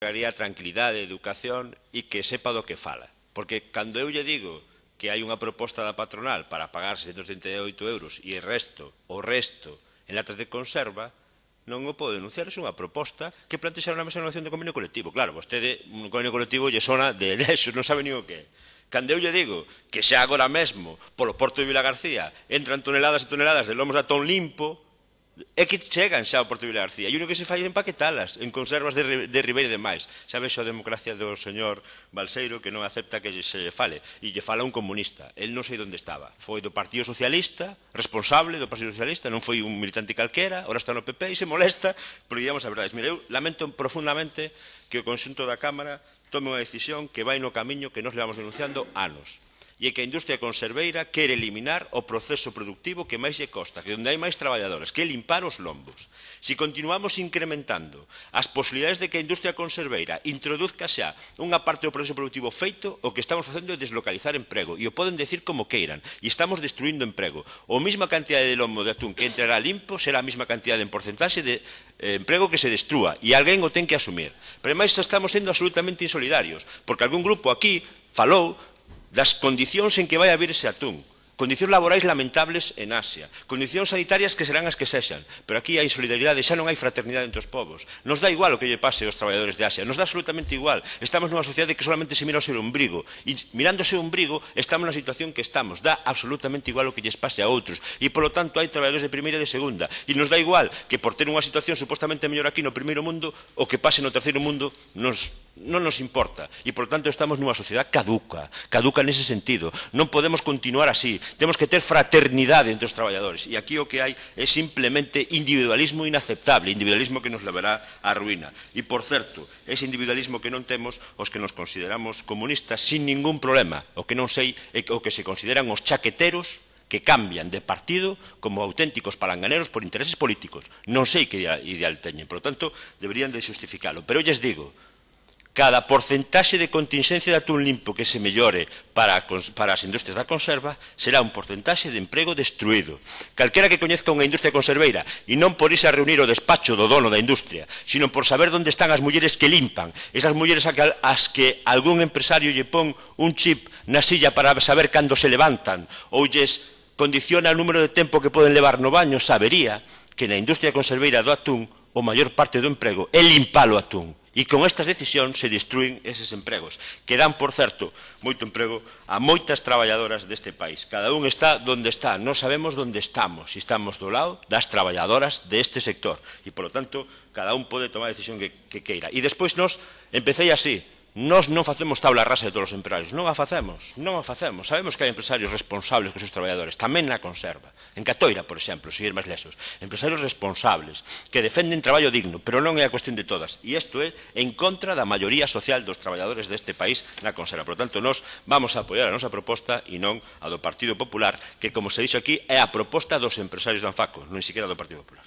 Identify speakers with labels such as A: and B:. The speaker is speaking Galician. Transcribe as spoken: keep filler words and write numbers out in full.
A: crearía tranquilidade, educación e que sepa do que fala. Porque cando eu lle digo que hai unha proposta da patronal para pagar seiscentos trinta e oito euros e o resto, o resto, en latas de conserva, non o pode denunciar, é unha proposta que plantexaron na mesa de negociación do convenio colectivo. Claro, vostede, un convenio colectivo lle sona de lexos, non sabe nin o que é. Cando eu lle digo que xa agora mesmo, polo porto de Vilagarcía, entran toneladas e toneladas de lomos de atón limpo, é que chegan xa ao porto de Vilagarcía. E o único que se fai é empaquetalas en conservas de, de Ribeira e demais. Xa vexo a democracia do señor Balseiro que non acepta que se lle fale. E lle fala un comunista. El non sei onde estaba. Foi do Partido Socialista, responsable do Partido Socialista, non foi un militante calquera, ora está no P P e se molesta, porque digamos a verdade. Mire, eu lamento profundamente que o conxunto da Cámara tome unha decisión que vai no camiño que nos levamos denunciando anos. E é que a industria conserveira quere eliminar o proceso productivo que máis lle costa, que onde hai máis traballadores, que é limpar os lombos. Se continuamos incrementando as posibilidades de que a industria conserveira introduzca xa unha parte do proceso productivo feito, o que estamos facendo é deslocalizar emprego, e o poden decir como queiran, e estamos destruindo emprego. O mesma cantidade de lomo de atún que entrará limpo será a mesma cantidade en porcentaxe de eh, emprego que se destrúa, e alguén o ten que asumir. Pero ademais estamos sendo absolutamente insolidarios, porque algún grupo aquí falou das condicións en que vai haber ese atún, condicións laborais lamentables en Asia, condicións sanitarias que serán as que sexan, pero aquí hai solidaridade, xa non hai fraternidade entre os povos. Nos dá igual o que lle pase aos traballadores de Asia, nos dá absolutamente igual. Estamos nunha sociedade que solamente se mira o seu ombrigo, e mirando o seu ombrigo estamos na situación que estamos, dá absolutamente igual o que lles pase a outros, e polo tanto hai traballadores de primeira e de segunda, e nos dá igual que por ter unha situación supostamente mellor aquí no primeiro mundo, o que pase no terceiro mundo nos non nos importa, e por tanto estamos nunha sociedade caduca, caduca nese sentido. Non podemos continuar así, temos que ter fraternidade entre os traballadores, e aquí o que hai é simplemente individualismo inaceptable, individualismo que nos levará á ruína. E por certo, ese individualismo que non temos os que nos consideramos comunistas sin ningún problema, o que non sei é o que se consideran os chaqueteros que cambian de partido como auténticos palanganeros por intereses políticos. Non sei que ideal teñen, por lo tanto, deberían de justificalo. Pero eu lles digo, cada porcentaxe de contingencia de atún limpo que se mellore para, para as industrias da conserva será un porcentaxe de emprego destruído. Calquera que coñezca unha industria conserveira, e non por irse a reunir o despacho do dono da industria, sino por saber onde están as mulleres que limpan, esas mulleres as que algún empresario lle pon un chip na silla para saber cando se levantan, ou lles condiciona o número de tempo que poden levar no baño, sabería que na industria conserveira do atún o maior parte do emprego é limpar o atún. E con estas decisións se destruen eses empregos, que dan, por certo, moito emprego a moitas traballadoras deste país. Cada un está donde está, non sabemos onde estamos, se estamos do lado das traballadoras deste sector. E, polo tanto, cada un pode tomar a decisión que, que queira. E despois nos, empecé así, nós non facemos tabla rasa de todos os empresarios, non a facemos, non a facemos. Sabemos que hai empresarios responsables cos seus traballadores, tamén na conserva. En Catoira, por exemplo, seguir máis lesos. Empresarios responsables, que defenden traballo digno, pero non é a cuestión de todas. E isto é en contra da maioría social dos traballadores deste país na conserva. Por tanto, nós vamos a apoiar a nosa proposta e non a do Partido Popular, que, como se dixo aquí, é a proposta dos empresarios do Anfaco, non sequera do Partido Popular.